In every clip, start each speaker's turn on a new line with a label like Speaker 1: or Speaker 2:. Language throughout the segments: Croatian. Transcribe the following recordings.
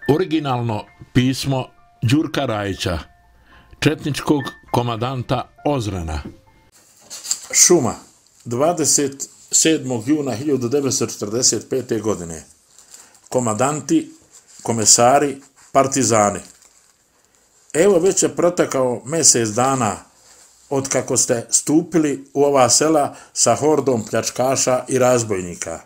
Speaker 1: Originalno pismo Đurka Rajića, četničkog komandanta Ozrena. Šuma, 27. juna 1945. godine. Komandanti, komesari, partizani. Evo već je protekao mjesec dana od kako ste stupili u ova sela sa hordom pljačkaša i razbojnika.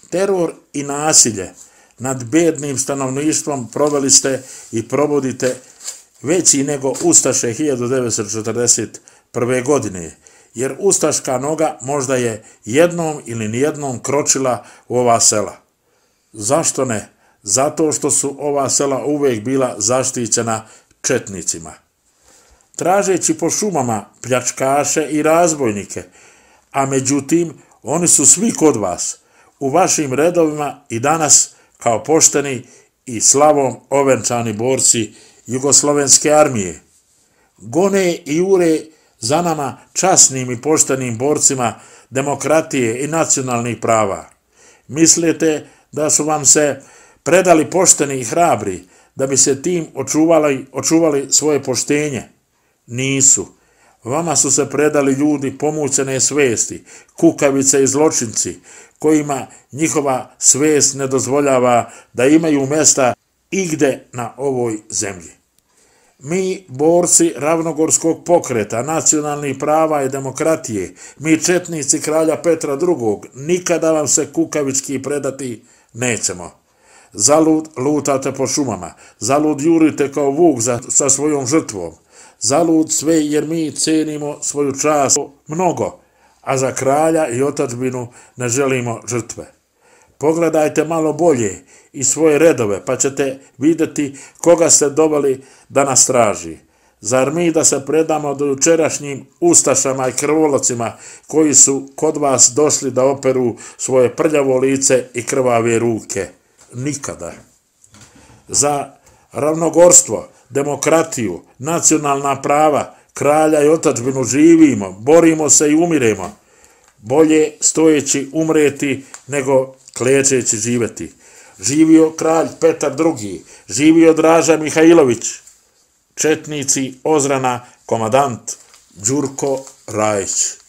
Speaker 1: Teror i nasilje nad bednim stanovništvom proveli ste i provodite veći nego ustaše 1941. godine, jer ustaška noga možda je jednom ili nijednom kročila u ova sela. Zašto ne? Zato što su ova sela uvijek bila zaštićena četnicima. Tražeći po šumama pljačkaše i razbojnike, a međutim oni su svi kod vas, u vašim redovima i danas kao pošteni i slavom ovenčani borci Jugoslovenske armije. Gone i jure za nama časnim i poštenim borcima demokratije i nacionalnih prava. Mislite da su vam se predali pošteni i hrabri da bi se tim očuvali svoje poštenje? Nisu. Vama su se predali ljudi pomućene svesti, kukavice i zločinci, kojima njihova svest ne dozvoljava da imaju mjesta igde na ovoj zemlji. Mi, borci ravnogorskog pokreta, nacionalnih prava i demokratije, mi četnici kralja Petra II, nikada vam se kukavički predati nećemo. Zalud lutate po šumama, zalud jurite kao vuk sa svojom žrtvom, zalud sve jer mi cenimo svoju čast mnogo, a za kralja i otadžbinu ne želimo žrtve. Pogledajte malo bolje i svoje redove, pa ćete vidjeti koga ste doveli da nas traži. Zar mi da se predamo do jučerašnjim ustašama i krvolocima koji su kod vas došli da operu svoje prljavo lice i krvave ruke? Nikada. Za ravnogorstvo, demokratiju, nacionalna prava, kralja i otadžbinu živimo, borimo se i umiremo. Bolje stojeći umreti nego klečeći živjeti. Živio kralj Petar II, živio Draža Mihajlović. Četnici Ozrena, komandant Đurko Rajić.